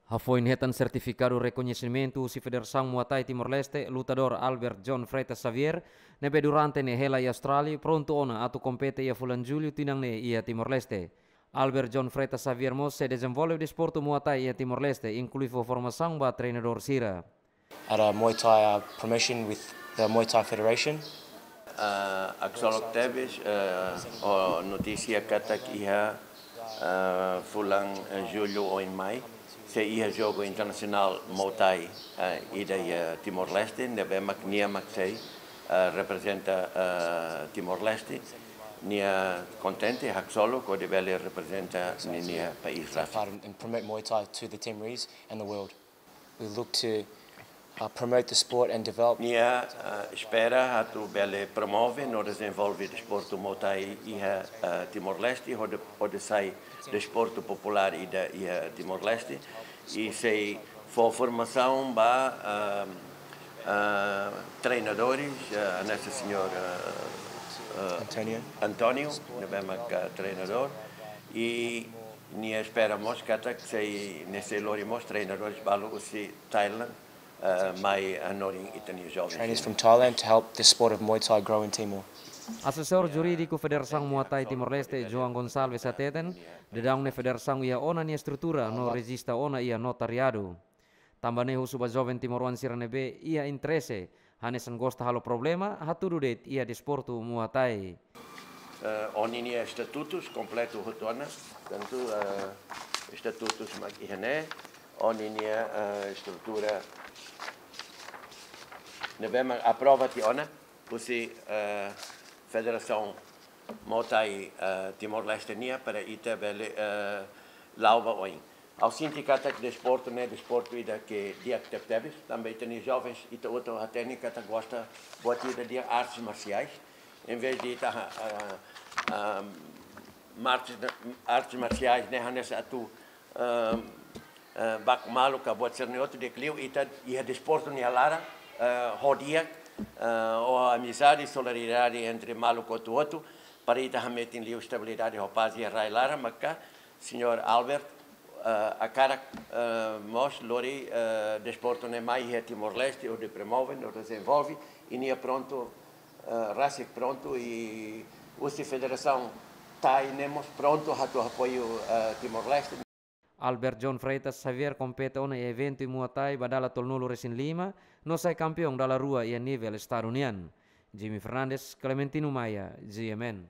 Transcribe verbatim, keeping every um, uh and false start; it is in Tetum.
Hafoin hetan sertifikadu rekoñesimentu husi Federasaun Muay Thai Timor-Leste, lutadór Albert John Freitas Xavier, ne'ebé durante ne'e hela iha Austrália, prontu ona atu kompete iha fulan Jullu tinan ne'e iha Timor-Leste. Albert John Freitas Xavier mós sei dezenvolve desportu Muay Thai iha Timor-Leste, inklui fó formasaun ba treinadór sira. At a Muay Thai uh, promotion with the Muay Thai Federation. Uh, haksolok tebes uh, ho notísia katak iha uh, fulan uh, Jullu oin mai sei iha jogu internasionál Muay Thai uh, ida iha Timor-Leste, ne'ebé mak nia mak sei uh, reprezenta uh, Timor-Leste. Nia kontente, haksolok hodi bele reprezenta ninia país rasik. Fight and, and promote Muay Thai to the Timorese and the world. We look to uh, promote the sport and develop. Nia uh, espera atu bele promove no dezenvolve desportu Muay Thai iha uh, Timor-Leste, hodi, hodi sai desportu populár ida iha Timor-Leste. I sei fó formasaun ba uh, uh, treinadores, uh, hanesan señór uh, uh, Antonio. António, ne'ebé mak uh, treinadór. I nia espera mós katak sei, nia sei lori mós treinadores balu husi Thailand uh, mai hanorin ita-nia joven. Trainers from Thailand to help the sport of Muay Thai grow in Timor. Asesór jurídiku Federasaun Muay Thai Timor-Leste, João Gonçalves hateten, daudaun ne'e federasaun iha ona nia estrutura no rejista ona iha notariadu. Tanba ne'e husu ba joven timoroan sira ne'ebé iha interese, hanesan gosta halo problema, hatudu de'it iha desportu Muay Thai. Uh, Ó-ninia estatutus kompletu hotu ona, tantu uh, estatutus mak iha ne'e, ó-ninia uh, estrutura ne'ebé mak aprova tiha ona husi uh, Federasaun Muay Thai uh, Timor-Leste nian para ita bele uh, la'o ba oin. Ha'u sente katak desportu ne'e desportu ida ke di'ak tebetebes, tanba ita-nia jovens ita hotu hatene katak gosta buat ida di'ak artes marsiais. Em vez de ita uh, uh, artes, artes marsiais ne'e hanesan atu uh, uh, baku malu ka buat sira-ne'e hotu, di'ak liu ita iha desportu nia laran uh, ho di'ak uh, ho amizade, solidariedade entre maluk hotu-hotu, para ita hametin liu estabilidade ho pás iha rai laran, maka señór Albert uh, hakarak uh, mós lori uh, desportu ne'e mai iha Timor-Leste, hodi promove no dezenvolve, i nia prontu, uh, rasik prontu, i husi Federasaun Thai ne'e mós prontu atu apoiu uh, Timor-Leste. Albert John Freitas Xavier kompete ona iha eventu Muay Thai ba dala tolunulu-resin-lima, no sai kampeaun dala rua iha nivel estadu nian. Jimmy Fernandes, Clementino Maia, G M N.